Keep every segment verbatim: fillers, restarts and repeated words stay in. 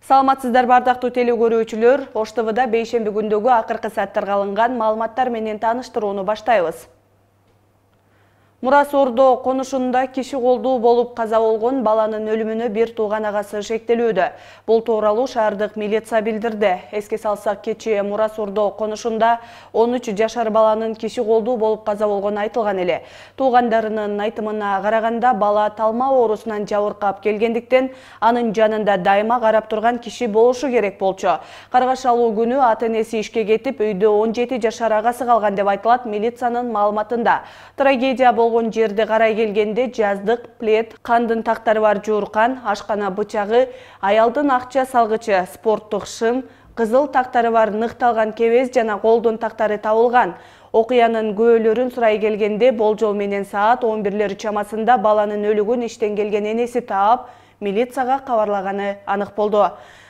Саламатсыздар бардактуу теле көрүүчүлөр, Ош Т Вда бейшемби күндөгү акыркы сааттарга алынган маалыматтар менен тааныштырууну баштайбыз. Мурас Ордо конушунда киши колдуу болуп каза болгон баланын өлүмүнө бир тууган агасы шектелүүдө. Бул тууралуу шаардык милиция билдирди. Эске салсак, кечээ Мурас Ордо конушунда он үч жашар баланын киши колдуу болуп каза болгону айтылган эле. Туугандарынын айтымына караганда, бала талма оорусунан жабыркап келгендиктен анын жанында дайыма карап турган киши болушу керек болчу. Каргашалуу күнү ата-энеси ишке кетип, үйдө он жети жашар агасы калган деп айтылат милициянын маалыматында. Трагедия болгон жерде карай келгенде жаздык плед, кандын тактары бар жууркан, ашкана бычагы, аялдын акча салгычы, спорттук шым, кызыл тактары бар ныкталган кебез жана колдун тактары табылган. Окуянын күбөлөрүн сурай келгенде, болжол менен саат он бирлер чамасында баланын өлүгүн иштен келген энеси таап, милицияга кабарлаганы анык болду.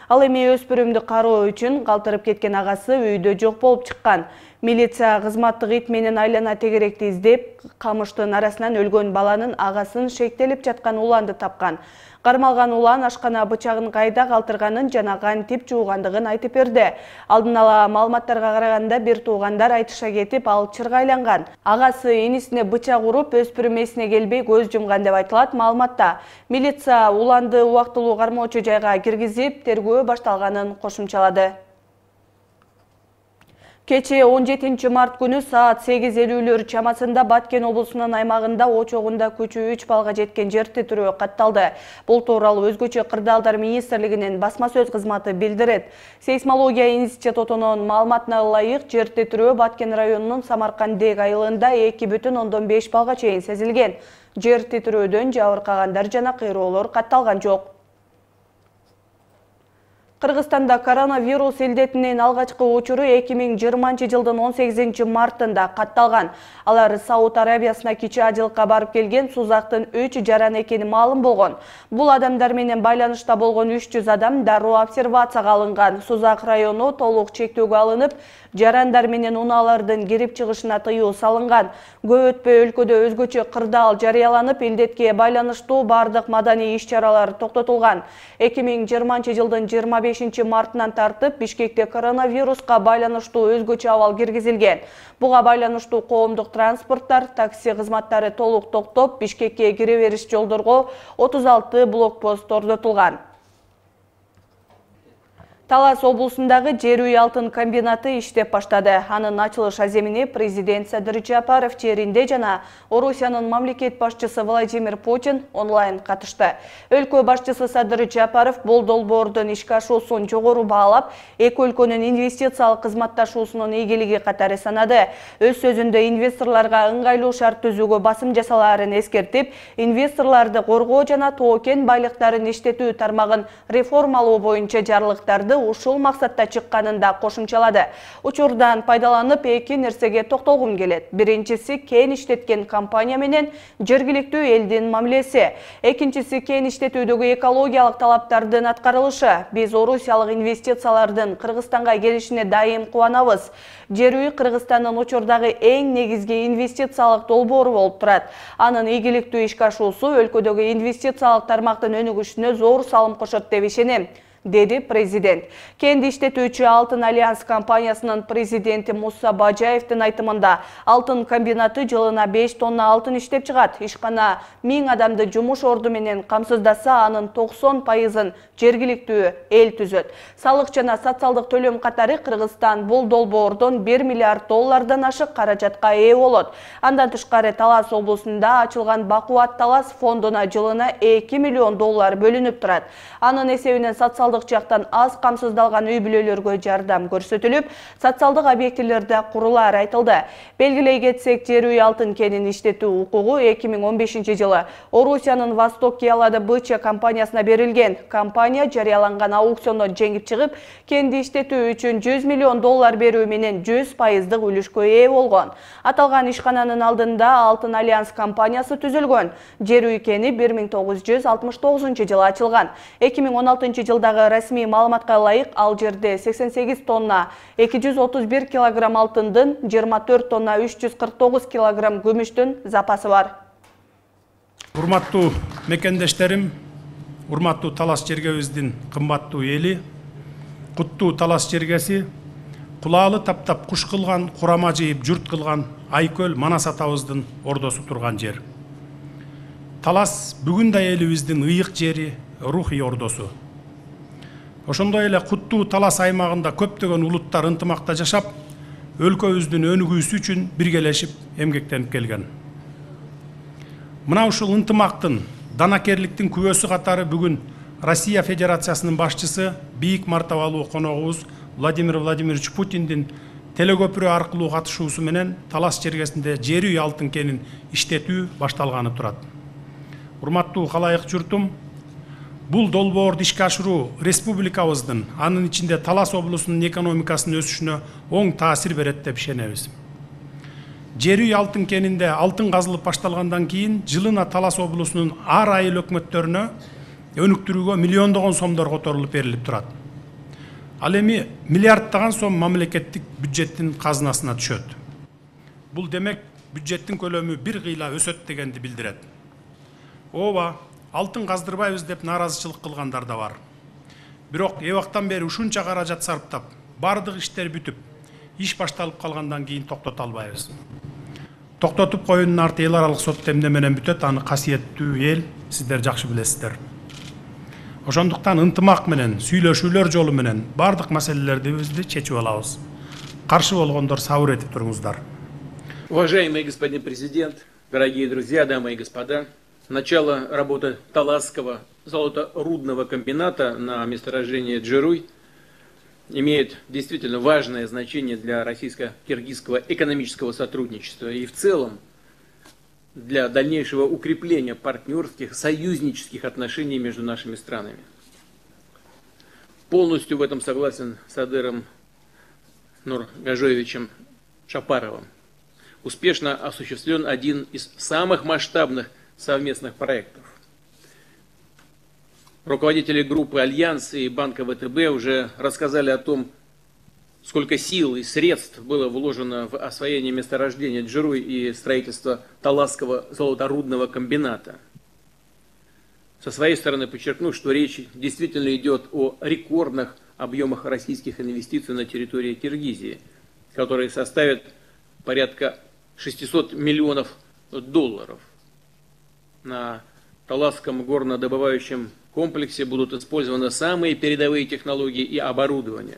Ал эми өспүрүмдү кароо үчүн калтырып кеткен агасы үйдө жок болуп чыккан. Милиция кызматтык ит менен айлана тегеректи издеп, камыштын арасынан өлгөн баланын агасын шектелип жаткан уланды тапкан. Кармалган улан ашкана бычагын кайда калтырганын жана кантип жуугандыгын айтып берди. Алдын ала маалыматтарга караганда, бир туугандар айтыша кетип, ал чыргайланган. Агасы энисине бычак уруп, өспүрүм эсине келбей көз жумган деп айтылат маалыматта. Милиция уланды убактылуу кармоочу жайга киргизип, тергөө башталганын кошумчалады. Кечээ он жетинчи март күнү саат сегиз элүүлөр чамасында Баткен облусунун аймагында очогунда күчү үч балга жеткен жер титирөө катталды. Бул тууралуу Өзгөчө кырдаалдар министрлигинин басма сөз кызматы билдирет. Сейсмология институтунун маалыматына ылайык, жер титирөө Баткен районунун Самаркандек айылында эки бүтүн ондон беш балга чейин сезилген. Жер титирөөдөн жабыркагандар жана кыйроолор катталган жок. Кыргызстанда коронавирус илдетинин алгачкы учуру эки миң жыйырманчы жылдын он сегизинчи мартында катталган. Алар Сауд Арабиясына кичи ажылыкка барып келген сузактын үч жаран экени маалым болгон. Бул адамдар менен байланышта болгон үч жүз адам дароо обсервацияга алынган. Сузак району толук чектөөгө алынып, жарандар менен унаалардын кирип чыгышына тыюу салынган. Көп өтпөй өлкөдө өзгөчө кырдаал жарыяланып, илдетке байланыштуу бардык маданий иш-чаралар токтотулган. эки миң жыйырманчы жылдын жыйырма бешинчи мартынан тартып Бишкекте коронавируска байланыштуу өзгөчө абал киргизилген. Буга байланыштуу коомдук транспорттар, такси кызматтары толук токтоп, Бишкекке кире бериш жолдорго отуз алты блокпост орнотулган. Талас облусундагы жер үй алтын комбинаты иштеп баштады. Анын ачылыш аземине президент Садыр Жапаров жеринде жана Орусиянын мамлекет башчысы Владимир Путин онлайн катышты. Өлкө башчысы Садыр Жапаров бул долбоордун ишке ашуусун жогору баалап, эки өлкөнүн инвестициялык кызматташуусунун ийгилиги катары санады. Өз сөзүндө инвесторлорго ыңгайлуу шарт түзүүгө басым жасалаарын эскертип, инвесторлорду коргоо жана тоо-кен байлыктарын иштетүү тармагын реформалоо боюнча жарлыктарды ушул максатта чыкканында кошумчалады. Учурдан пайдаланып эки нерсеге токтолгум келет. Биринчиси кен иштеткен компания менен жергиликтүү элдин мамилеси. Экинчиси кен иштетүүдөгү экологиялык талаптардын аткарылышы. Биз орусиялык инвестициялардын Кыргызстанга келишине дайым кубанабыз. Жер үй Кыргызстандын учурдагы эң негизги инвестициялык долбоору болуп турат. Анын ийгиликтүү ишке ашуусу өлкөдөгү инвестициялык тармактын өнүгүшүнө зор салым кошот деп ишенем, деди президент. Кенди иштетүүчү Алтын Альянс компаниясынын президенти Муса Бажаевдин айтымында, алтын комбинаты жылына беш тонна алтын иштеп чыгат. Ишкана миң адамды жумуш орду менен камсыздаса, анын токсон пайызын жергиликтүү эл түзөт. Салык жана социалдык төлөм катары Кыргызстан бул долбоордон бир миллиард доллардан ашык каражатка ээ болот. Андан тышкары Талас облусунда ачылган Бакубат Талас фондуна жылына эки миллион доллар бөлүнүп турат. Анын эсебинен социалдык жактан аз камсыздалган үй бүлөлөргө жардам көрсөтүлүп, социалдык объектилерде курулар айтылды. Белгилей кетсек, жер үй алтын кенин иштетүү укугу эки миң он бешинчи жылы Орусиянын Восток Киалада БЧ компаниясына берилген. Компания жарыяланган аукциондон жеңип чыгып, кенди иштетүү үчүн жүз миллион доллар берүү менен жүз пайыздык үлүшкө ээ болгон. Аталган ишкананын алдында Алтын Альянс компаниясы түзүлгөн. Жер үй кени бир миң тогуз жүз алтымыш тогузунчу жылы ачылган. эки миң он алтынчы жылдагы расмий маалыматка ылайык, ал жерде сексен сегиз тонна эки жүз отуз бир килограмм алтындын, жыйырма төрт тонна үч жүз кырк тогуз килограмм күмүштүн запасы бар. Урматтуу мекендештерим, урматтуу Талас Чергебиздин кымбаттуу эли, куттуу Талас Чергеси, кулаалы таптап куш кылган, курама жыйып журт кылган Айкөл Манас атабыздын ордосу турган жер. Талас бүгүн да элибиздин ыйык жери, рухий ордосу. Ошондой эле куттуу Талас аймагында көптөгөн улуттар ынтымакта жашап, өлкөбүздүн өнүгүүсү үчүн биргелешип эмгектенип келген. Мына ушул ынтымактын, данакерликтин күбөсү катары бүгүн Россия Федерациясынын башчысы, бийик мартабалуу коногубуз Владимир Владимирович Путиндин телекөпүрө аркылуу катышуусу менен Талас чергесинде жер үй алтын кенин иштетүү башталганы турат. Урматтуу калайык журтум, бул долбоорду ишке ашыруу республикабыздын, анын ичинде Талас облусунун экономикасынын өсүшүнө оң таасир берет деп ишенебиз. Жер үй алтын кенинде алтын казылып башталгандан кийин жылына Талас облусунун ар айыл өкмөттөрүнө өнүктүрүүгө миллиондогон сомдор которулуп берилип турат. Ал эми миллиарддаган сом мамлекеттик бюджеттин казынасына түшөт. Бул демек бюджеттин көлөмү бир кыйла өсөт дегенди билдирет. Ооба, алтын каздырбайбыз деп нааразычылык кылгандар да бар. Бирок эбактан бери ушунча каражат сарптап, бардык иштер бүтүп, иш башталып калгандан кийин токтото албайбыз. Токтотуп коюунун арты эл аралык сот демде менен бүтөт, аны касиеттүү эл сиздер жакшы билесиздер. Ошондуктан ынтымак менен, сүйлөшүүлөр жолу менен бардык маселелерди чечип алабыз. Каршы болгондор сабыр этип туруңуздар. Уважаемый господин президент, дорогие друзья, дамы и господа, начало работы Таласского золоторудного комбината на месторождении Джеруй имеет действительно важное значение для российско-киргизского экономического сотрудничества и в целом для дальнейшего укрепления партнерских, союзнических отношений между нашими странами. Полностью в этом согласен с Адыром Нургажоевичем Шапаровым. Успешно осуществлен один из самых масштабных совместных проектов. Руководители группы «Альянс» и банка вэ тэ бэ уже рассказали о том, сколько сил и средств было вложено в освоение месторождения Джеруй и строительство Таласского золоторудного комбината. Со своей стороны подчеркну, что речь действительно идет о рекордных объемах российских инвестиций на территории Киргизии, которые составят порядка шестисот миллионов долларов. На Таласском горнодобывающем комплексе будут использованы самые передовые технологии и оборудование.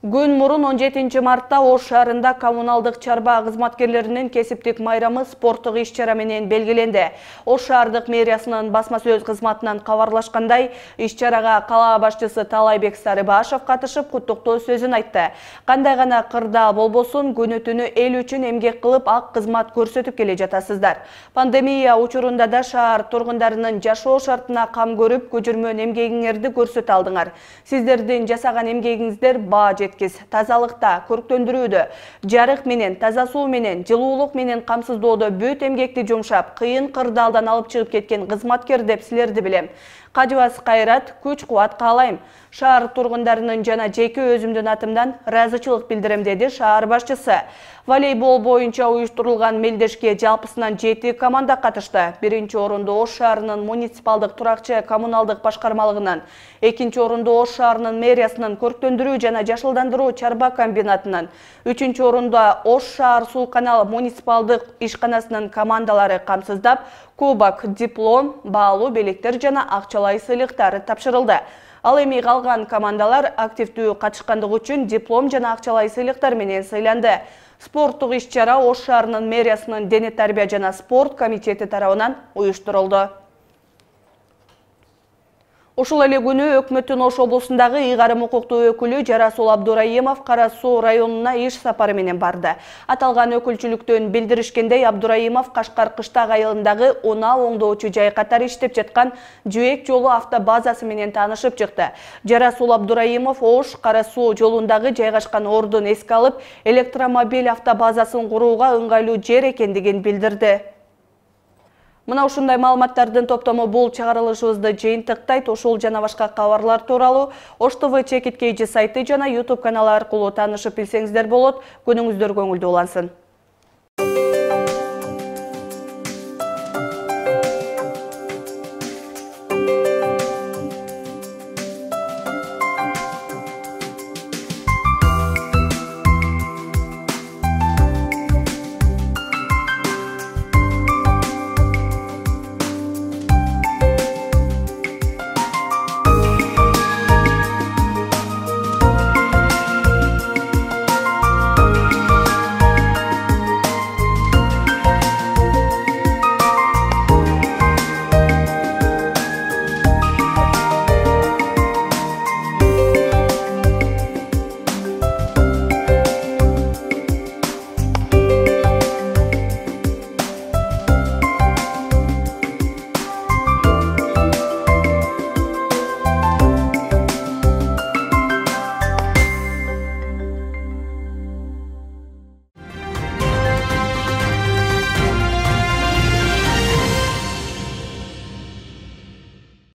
Күн мурун он жетинчи мартта Ош шаарында коммуналдык чарба кызматкерлеринин кесиптик майрамы спорттук иш-чара менен белгиленди. Ош шаардык мэриясынын басма сөз кызматынан кабарлашкандай, иш-чарага кала башчысы Талайбек Сарыбашев катышып куттуктоо сөзүн айтты. Кандай гана кырда болбосун, күнү-түнү эл үчүн эмгек кылып ак кызмат көрсөтүп келе жатасыздар. Пандемия учурунда да шаар тургундарынын жашоо шартына кам көрүп, көчүрмөн эмгегиңерди көрсөтө алдыңар. Сиздердин жасаган эмгегиңиздер баа тазалыкта, көрктөндүрүүдө, жарык менен, таза суу менен, жылуулук менен камсыздоодо бүт эмгекти жумшап, кыйын кырдаалдан алып чыгып кеткен кызматкер деп силерди билем. Кажыбас кайрат, күч-кубат каалайм. Шаар тургундарынын жана жеке өзүмдүн атымдан ыраазычылык билдирем, деди шаар башчысы. Волейбол боюнча уюштурулган мелдешке жалпысынан жети команда катышты. Биринчи орунду Ош шаарынын муниципалдык туракчы коммуналдык башкармалыгынан, экинчи орунду Ош шаарынын мэриясынын көрктөндүрүү жана жашылдандыруу чарба комбинатынан, үчүнчү орунда Ош шаар суу канал муниципалдык ишканасынын командалары камсыздап, кубок, диплом, баалуу белектер жана акчалай сыйлыктар тапшырылды. Ал эми калган командалар активдүү катышкандыгы үчүн диплом жана акчалай сыйлыктар менен сыйланды. Спорттук иш-чара Ош шаарынын мэриясынын дене тарбия жана спорт комитети тарабынан уюштурулду. Ушул эле күнү өкмөттүн Ош облусундагы ыйгарым укуктуу өкүлү Жарасул Абдурайымов Кара Суу районуна иш сапары менен барды. Аталган өкүлчүлүктөн билдиришкендей, Абдурайымов Кашкар Кыштак айылындагы унаа оңдоочу жай катары иштеп жаткан Жөөк жолу автобазасы менен таанышып чыкты. Жарасул Абдурайымов Ош Кара Суу жолундагы жайгашкан ордун эске алып, электромобиль автобазасын курууга ыңгайлуу жер экендигин билдирди. Мына ушундай маалыматтардын топтому бул чыгарылышыбызды жыйынтыктайт. Ушул жана башка кабарлар тууралуу Ош тэ вэ чекиткейжи сайты жана YouTube каналы аркылуу таанышып билсеңиздер болот. Күнүңүздөр көңүлдүү улансын.